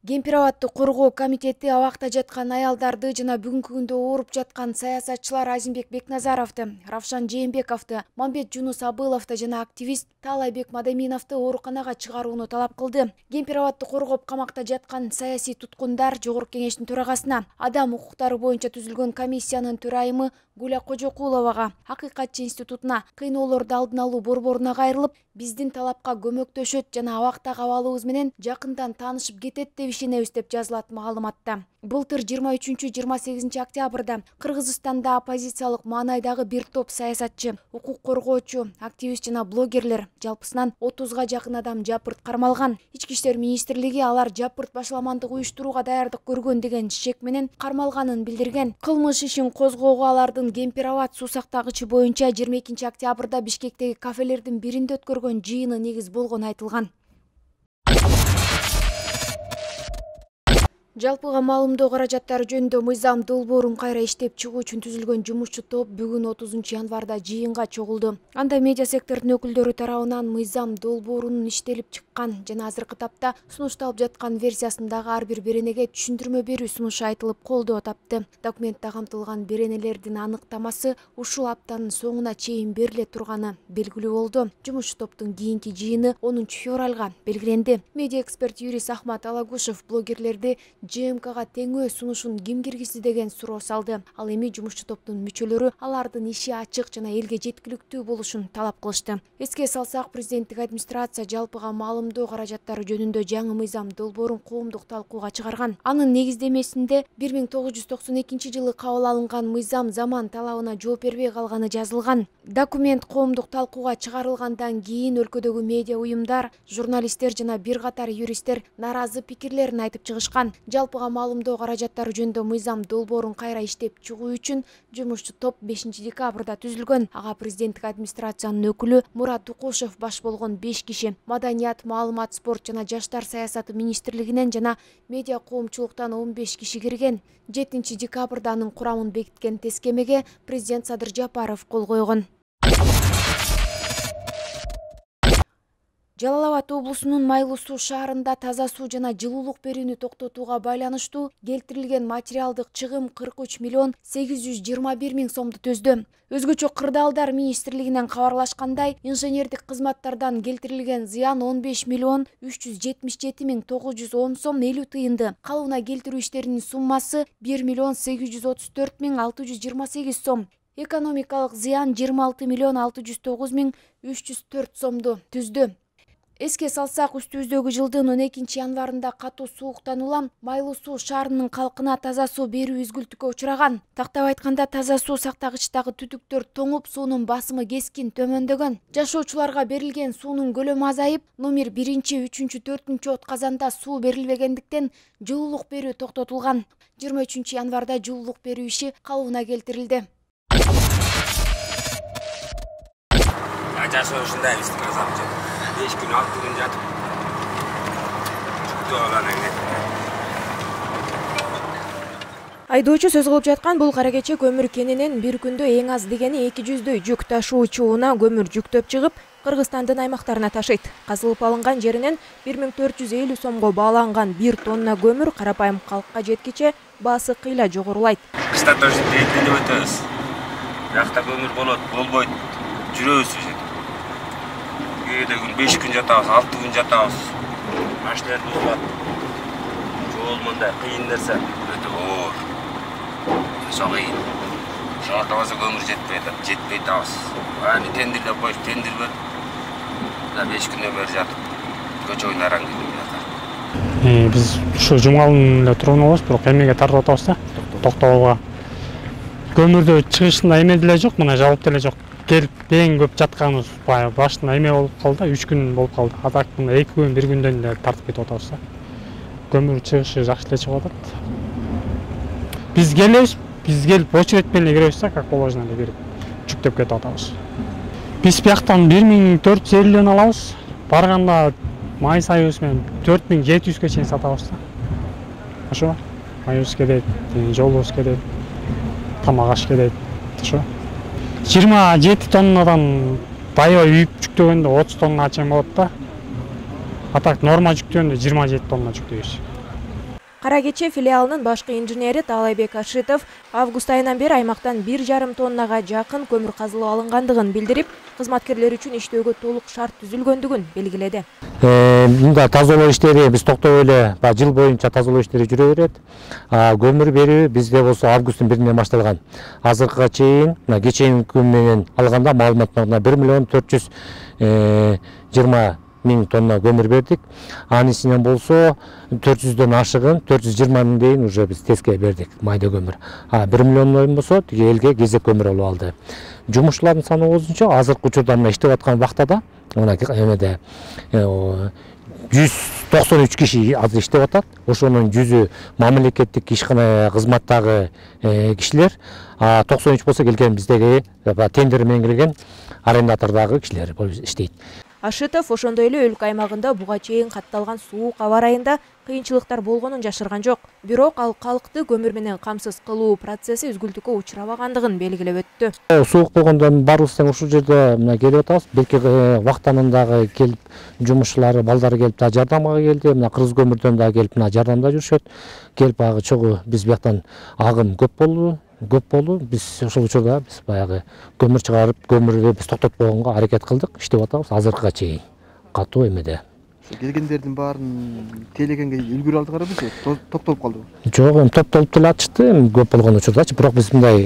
Кемпир-абадты коргоо комитети абакта жаткан аялдарды жана бүгүнкү күндө ооруп жаткан саясатчылар Азимбек Бекназаровду, Равшан Жээнбековду, Мамбет Жунус Абыловду жана активист Таалайбек Мадаминовду ооруканага чыгарууну талап кылды. Кемпир-абадты коргоп камакта жаткан саясий туткундар Жогорку кеңештин төрагасына, адам укуктары боюнча түзүлгөн комиссиянын төрайымы Гуля Кожокуловага, Акыйкатчы институтуна, кыйноолорду алдын алуу борборуна кайрылып, биздин талапка көмөктөшөт жана абактагы абалыбыз менен жакындан таанышып кетет деп ишенебиз деп жазылат маалыматта. Былтыр 23-28 октябрда Кыргызстанда оппозициялык маанайдагы бир топ саясатчы, укук коргоочу, активист жана блогерлер жалпысынан 30га жакын адам жапырт кармалган. Ички иштер министрлиги алар жапырт башаламандык уюштурууга даярдык көргөн деген шек менен кармалганын билдирген. Кылмыш ишин козгоого алардын Кемпир-абад суу сактагычы боюнча 22 октябрда Бишкектеги кафелердин биринде өткөргөн жыйыны негиз болгону айтылган. Жалпыга маалымдоо каражаттары жөнүндө мыйзам долбоорун кайра иштеп чыгуу үчүн түзүлгөн жумушчу топ бүгүн 30 январда жыйынга чогулду. Анда медиа сектордун өкүлдөрү тарабынан мыйзам долбоорунун иштелип чыккан жана азыркы тапта сунушталып жаткан версиясындагы ар бир беренеге түшүндүрмө берүү сунушу айтылып колдоо тапты. Документте камтылган беренелердин аныктамасы ушул аптанын соңуна чейин бериле турганы белгилүү болду. Жумушчу топтун кийинки жыйыны 10 февралга белгиленди. Медиа эксперт юрист Ахмат Алагушев блогерлерди ЖМКга теңөө сунушун ким киргизди деген суроо салды. Ал эми жумушчу топтун мүчөлөрү алардын иши ачык жана элге жеткиликтүү болушун талап кылышты. Эске салсак, президенттик администрация жалпыга маалымдоо каражаттары жөнүндө жаңы мыйзам долбоорун коомдук талкууга чыгарган. Анын негиздемесинде 1992 жылы кабыл алынган мыйзам заман талабына жооп бербей калганы жазылган. Документ коомдук талкууга чыгарылгандан кийин өлкөдөгү медиа уюмдар, журналисттер жана бир катар юристтер нааразы пикирлерин айтып чыгышкан. Жалпыга маалымдоо каражаттары жөнүндө мыйзам долбоорун кайра иштеп чыгуу үчүн жумушчу топ 5 декабрда түзүлгөн. Ага президенттик администрациянын өкүлү Мурат Тукушев баш болгон 5 киши, маданият, маалымат, спорт жана жаштар саясаты министрлигинен жана медиа коомчулуктан 15 киши кирген. 7 декабрда анын курамын бекиткен тескемеге президент Садыр Жапаров кол койгон. Жалал Абад облусунун Майлуу суу шаарында таза суу жана жылуулук берүүнү токтотууга байланыштуу келтирилген материалдык чыгым 43 миллион 821 миң сомду төздү. Өзгөчө кырдаалдар министрлигинен кабарлашкандай, инженердик кызматтардан келтирилген зыян 15 миллион 377 миң 910 сом 50 тыйынды. Калыбына келтирүү иштеринин суммасы 1 миллион 834 миң 628 сом. Экономикалык зыян 26 миллион 609 миң 304 сомду түздү. Эске салсак, үстүбүздөгү жылдын 12 январында катуу сууктан улам Майлуу суу шаарынын калкына таза суу берүү үзгүлтүккө учураган. Тактап айтканда, таза суу сактагычтагы түтүктөр тоңуп, суунун басымы кескин төмөндөгөн. Жашоочуларга берилген суунун көлөмү азайып, номер 1, 3, 4 отказанда суу берилбегендиктен жылуулук берүү токтотулган. 23 январда жылуулук берүү иши калыбына келтирилди. Жашоочундай истик 5 күн 6 күн жатып жүктүү алган экен. Айдоочу сөз кылып жаткан бул кара кече көмүр кенинен бир күндө эң аз дегени 200 жүк ташуучу унаа көмүр жүктөп чыгып, Кыргызстандын аймактарына ташыйт. Казылып алынган жеринен 1450 сомго бааланган 1 тонна көмүр карапайым калкка жеткиче баасы кыйла жогорулайт. Кышта тоже тегинденип өтөбүз. Бияқта көмүр болот, болбойт, жүрөбүз. Кээде күн 5 күн жатабыз, 6 күн жатабыз. Машиналар бузулат. Жол мындай кыйын нерсе, өтө оор. Ошо кыйын. Шартабаза көмүр жетпей табыз. Аны тендирлеп коюп, тендир берип, 5 күндөн бери жатып, көчө ойнараң келип. Биз ушу жумгалын эле турган болобуз, бирок эмеге тартып атабыз да. Токтогулга. Көмүрдө чыгышында эме деле жок, мына жабып деле жок. Келип эң көп жатканыбыз башында эме болуп калды, 3 күн болуп калды. Атак мына 2 күн, 1 күндөн эле тартып кетип атабыз да. Көмүр чыгышы жакшы эле чыгып атат. Биз келип очередь менен киребиз да, как положено эле кирип жүктөп кетип атабыз. Биз бияктан 1450 алабыз. Барганда май сайыбыз менен 4700ге чейин сатабыз да. Ошо майыбыз кетет, жолубуз кетет, тамак аш кетет. Ошо 27 тоннадан дайыба үйүп жүктөгөндө 30 тонна чейин болот да. А так норма жүктөгөндө 27 тонна жүктөйбүз. Кара Кече филиалынын башкы инженери Таалайбек Ашитов август айынан бери аймактан 1,5 тоннага жакын көмүр казылып алынгандыгын билдирип, кызматкерлер үчүн иштөөгө толук шарт түзүлгөндүгүн белгиледи. Мында тазалоо иштери биз токтобой эле жыл боюнча тазалоо иштери жүрө берет. Көмүр берүү бизде болсо августтун 1-инен башталган. Азыркыга чейин кечээки күн менен алганда маалыматтарына 1,420,000 тонна көмүр бердик. Анысынан болсо 400дөн ашыгын 420,000 дейин уже биз теске бердик майда көмүр. 1 миллион болсо тиги элге кезек көмүр алып алды. Жумушчулардын саны болсончо азыркы учурда мына иштеп аткан вактада мына эмеде 193 киши азыр иштеп атат. Ошонун 100ü мамлекеттик ишкана кызматтагы кишилер, 93 болсо келген биздеги тендер менен келген арендатордагы кишилер болуп иштейт. Ашитов ошондой эле өлкө аймагында буга чейин катталган суук аба ырайында кыйынчылыктар болгонун жашырган жок. Бирок ал калкты көмүр менен камсыз кылуу процесси үзгүлтүккө учурабагандыгын белгилеп өттү. Суук болгондо баарыбыз тең ушул жерде келип атабыз. Белки вактанын дагы келип жумушчулары, балдары келип да жардамга келди. Мына Кыргыз көмүрдөн да келип мына жардамда жүрүшөт. Келип агы чогуу биз бияктан агым көп болду. Биз ошол учурда биз баягы көмүр чыгарып, көмүрдү биз токтотпогонго аракет кылдык, иштеп атабыз азыркыга чейин. Катуу эмеде. Келгендердин баарын тейлегенге үлгүрө алдыгар беле? Токтолуп калдыбы? Жок, токтолуп деле атышты, көп болгон учурдачы. Бирок биз мындай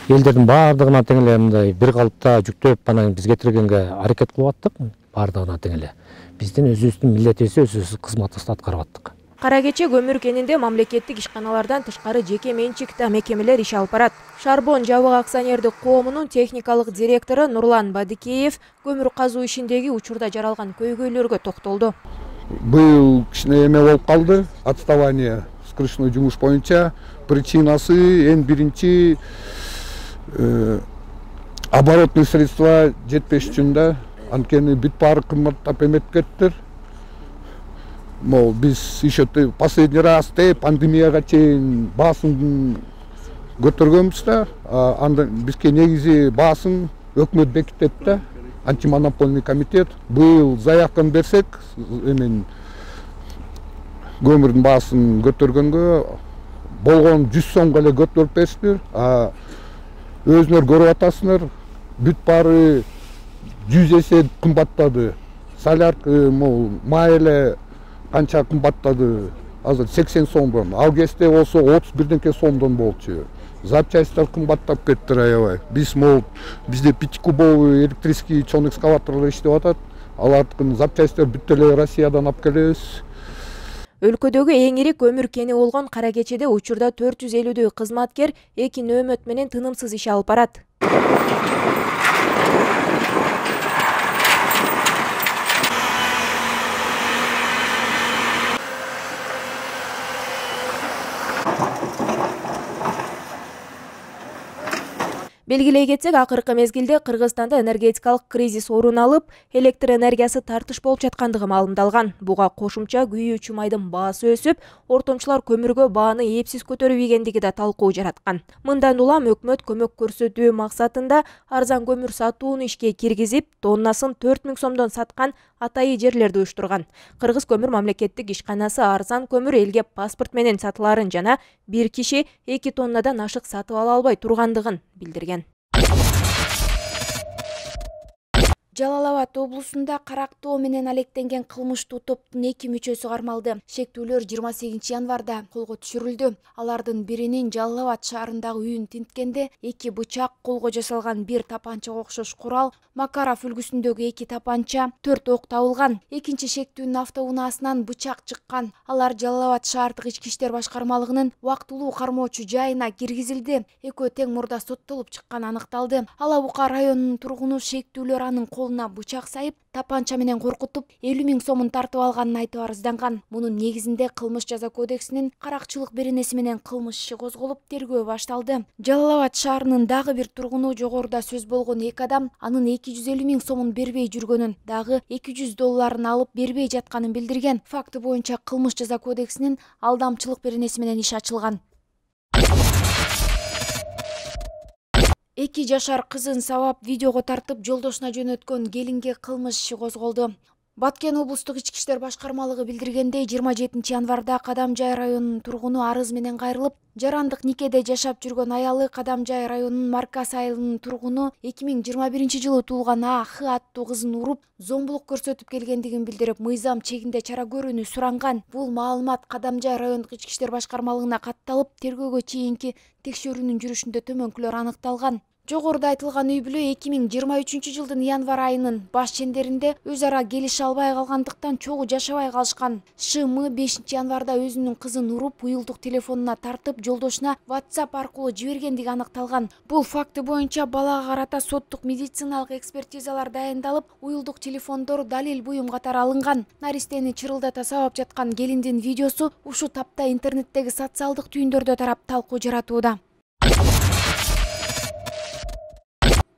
элдердин баардыгына тең эле мындай бир калыпта жүктөп анан биз кетиргенге аракет кылып аттык, баардыгына тең эле. Биздин өзүбүздүн милдетибизди өзүбүз кызматыбызды аткарып аттык. Кара Кече көмүр кенинде мамлекеттик ишканалардан тышкары жеке менчикте мекемелер иш алып барат. Шарбон жабык акционердик коомунун техникалык директору Нурлан Бадикеев көмүр казуу ишиндеги учурда жаралган көйгөйлөргө токтолду. Быйыл кичине эме болуп калды, отставание скрышной жумуш боюнча. Причинасы эң биринчи оборотный средства жетпеш үчүн да, анткени бүт баары кымбаттап эметип кеттир. Биз еще последний раз пандемияга чейин баасын көтөргөнбүз да, анда бизге негизи баасын өкмөт бекитет да, антимонопольный комитет. Быйыл заявканы берсек, эмен көмүрдүн баасын көтөргөнгө болгон 100 сомго эле көтөрүп бериптир. Өзүңөр көрүп атасыңар, бүт баары 100 эсе кымбаттады. Солярка, май эле канча кымбаттады, азыр 80 сомдон, ал кезде болсо 31 сомдон болчу. Запчасттар кымбаттап кетти аябай. Бизде 5-кубовый электрический чоң экскаваторлор иштеп атат. Алардын запчасттар бүт эле Россиядан алып келебиз. Өлкөдөгү эң ири көмүр кени болгон Кара Кечеде учурда 450дөй кызматкер 2 нөөмөт менен тынымсыз иш алып барат. Белгилей кетсек, акыркы мезгилде Кыргызстанда энергетикалык кризис орун алып, электр энергиясы тартыш болуп жаткандыгы маалымдалган. Буга кошумча күйүүчү майдын баасы өсүп, ортомчулар көмүргө бааны эпсиз көтөрүп ийгендиги да талкуу жараткан. Мындан улам өкмөт көмөк көрсөтүү максатында арзан көмүр сатууну ишке киргизип, тоннасын 4000 сомдон саткан атайы жерлерди уюштурган. Кыргыз көмүр мамлекеттик ишканасы арзан көмүр элге паспорт менен сатыларын жана бир киши 2 тоннадан ашык сатып ала албай тургандыгын билдирген. Жалал Абад облусунда карактоо менен алектенген кылмыштуу топтун 2 мүчөсү кармалды. Шектүүлөр 28 январда колго түшүрүлдү. Алардын биринин Жалал Абад шаарындагы үйүн тинткенде 2 бычак, колго жасалган 1 тапанчага окшош курал, Макаров үлгүсүндөгү 2 тапанча, 4 ок табылган. Экинчи шектүүнүн автоунаасынан бычак чыккан. Алар Жалал Абад шаардык ички иштер башкармалыгынын убактылуу кармоочу жайына киргизилди. Экөө тең мурда соттолуп чыкканы аныкталды. Ала Бука районунун тургуну шектүүлөр анын колуна бычак сайып, тапанча менен коркутуп 50 000 сомун тартып алганын айтып арызданган. Мунун негизинде кылмыш жаза кодексинин каракчылык беренеси менен кылмыш иши козголуп, тергөө башталды. Жалал Абад шаарынын дагы бир тургуну жогоруда сөз болгон 2 адам анын 250 000 сомун бербей жүргөнүн, дагы $200 алып бербей жатканын билдирген. Факты боюнча кылмыш жаза кодексинин алдамчылык беренеси менен иш ачылган. 2 жашар кызын сабап видеого тартып жолдошуна жөнөткөн келинге кылмыш иши козголду. Баткен облустук ички иштер башкармалыгы билдиргендей, 27 январда Кадамжай районунун тургуну арыз менен кайрылып, жарандык никеде жашап жүргөн аялы Кадамжай районунун Маркас айылынын тургуну 2021-жылы туулган А.Х. аттуу кызын уруп, зомбулук көрсөтүп келгендигин билдирип, мыйзам чегинде чара көрүүнү суранган. Бул маалымат Кадамжай райондук ички иштер башкармалыгына катталып, тергөөгө чейинки текшерүүнүн жүрүшүндө төмөнкүлөр аныкталган. Жогоруда айтылган үй бүлө 2023-жылдын январ айынын баш чендеринде өз ара келише албай калгандыктан чогуу жашабай калышкан. ШМ 5 январда өзүнүн кызын уруп, уюлдук телефонуна тартып, жолдошуна WhatsApp аркылуу жибергендиги аныкталган. Бул факты боюнча балага карата соттук медициналык экспертизалар дайындалып, уюлдук телефондор далил буюм катары алынган. Наристени чырылдата сабап жаткан келиндин видеосу ушул тапта интернеттеги социалдык түйүндөрдө тарап талкуу жаратууда.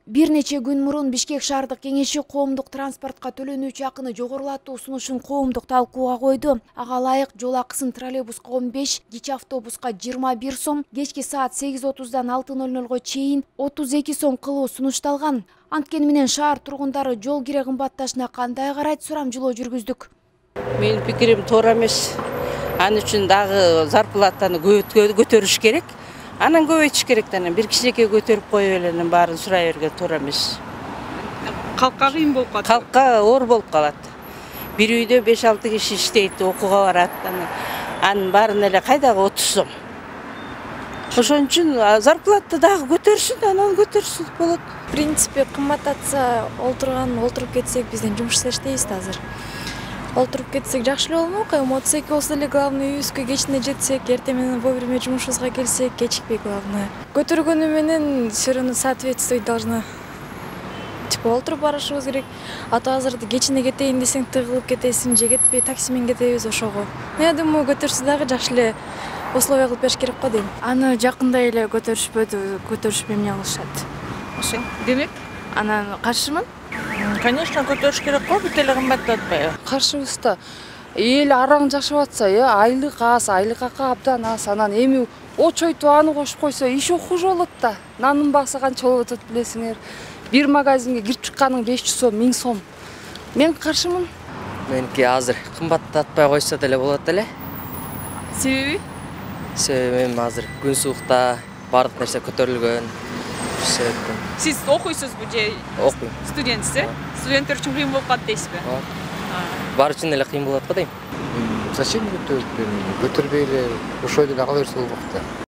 Бир нече күн мурун Бишкек шаардык кеңеши коомдук транспортко төлөнүүчү акыны жогорулатуу сунушун коомдук талкууга койду. Ага ылайык жол акысын троллейбуска 15, кичи автобуска 21 сом, кечки саат 8:30дан 6:00 чейин 32 сом кылуу сунушталган. Анткени менен шаар тургундары жол кире кымбатташына кандай карайт, сурамжылоо жүргүздүк. Менин пикирим туура эмес. Аны үчүн дагы зарплатаны көтөрүш керек. Анан көбөйтүш керек да, бир кичинекей көтөрүп коюп эле баарын сурай берген туура эмес. Калкка кыйын болуп калат. Калкка оор болуп калат. Бир үйдө 5-6 киши иштейт, окууга барат. Анын баарын эле кайдагы 30 сом. Ошон үчүн зарплата дагы көтөрсүн, анан көтөрсүн болот. В принципе, кымбаттатса, олтуруп кетсек, бизден жумушта иштейбиз да азыр. Олтуруп кетсек жакшы эле болмок, мотоцикл болсо эле главный үйүбүзгө кечине жетсек, эртең менен вовремя жумушубузга келсек, кечикпей главное. Көтөргөнү менен все равно соответствовать должна. Типа олтуруп барышыбыз керек. А то азыр кечине кетейин десең тыгылып кетесиң, же кетпей такси менен кетебиз ошого. Я думаю, көтөрсө дагы жакшы эле условия кылып бериш керек го дейм. Аны жакында эле көтөрүшпөй эмне кылышат. Ошо. Демек, анан каршымын. Конечно, көтөрүш керек го, бүт эле кымбаттатпайбы. Каршыбыз да. Эл араң жашап атса, айлык аз, айлык акы абдан аз. Анан эми очойтуп аны кошуп койсо, иши хуже болот да. Нанын баасы канча болуп атат билесиңер. Бир магазинге кирип чыкканың 500 сом, 1000 сом. Мен каршымын. Меники азыр кымбаттатпай койсо деле болот эле. Себеби? Себеби азыр күн суукта бардык нерсе көтөрүлгөн. Сиз окуйсузбу же? Окуйм. Студентсиз? Студенттер үчүн кыйын болуп калат дейсизби? Бар үчүн эле кыйын болот го дейм. Зачем көтөрбөй эле ошой эле ала берсе болмок да.